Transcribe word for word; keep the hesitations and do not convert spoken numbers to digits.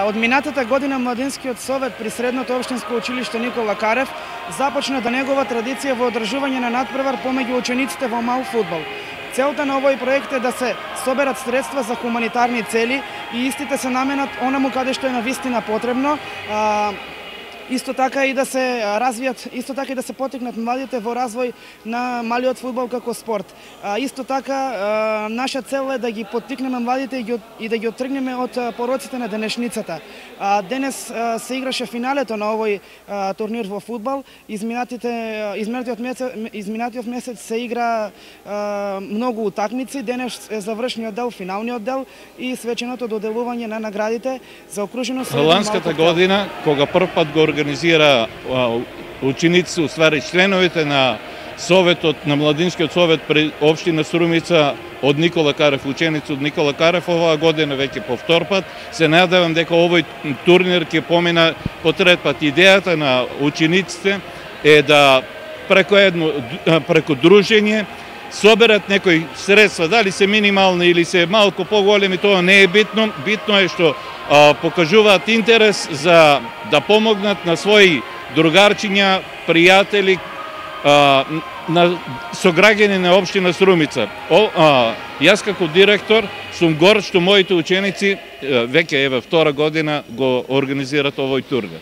Од минатата година Младинскиот совет при Средното општинско училиште Никола Карев започна да негова традиција во одржување на надпревар помеѓу учениците во мал фудбал. Целта на овој проект е да се соберат средства за хуманитарни цели и истите се наменат онаму каде што е навистина потребно. Исто така и да се развијат, исто така и да се потикнат младите во развој на малиот фудбал како спорт. Исто така наша цел е да ги поттикнеме младите и да ги оттргнеме од пороците на денешницата. Денес се играше финалето на овој турнир во фудбал. Изминатите изминатиот месец изминатиот месец се игра многу утакмици. Денес е завршниот дел, финалниот дел и свеченото доделување на наградите за окружено со ланската година кога прв пат го организира ученици, уствари членовите на Советот, на Младинскиот совет при општина Струмица од Никола Карев, ученици од Никола Карев, оваа година веќе по втор пат. Се надевам дека овој турнир ќе помина по трет пат. Идејата на учениците е да преку едно преку дружење соберат некои средства, дали се минимални или се малку поголеми, тоа не е битно. Битно е што а, покажуваат интерес за да помогнат на своји другарчиња, пријатели, а, на сограѓани на општина Струмица. О, а, јас како директор сум горд што моите ученици веќе еве втора година го организираат овој турнир.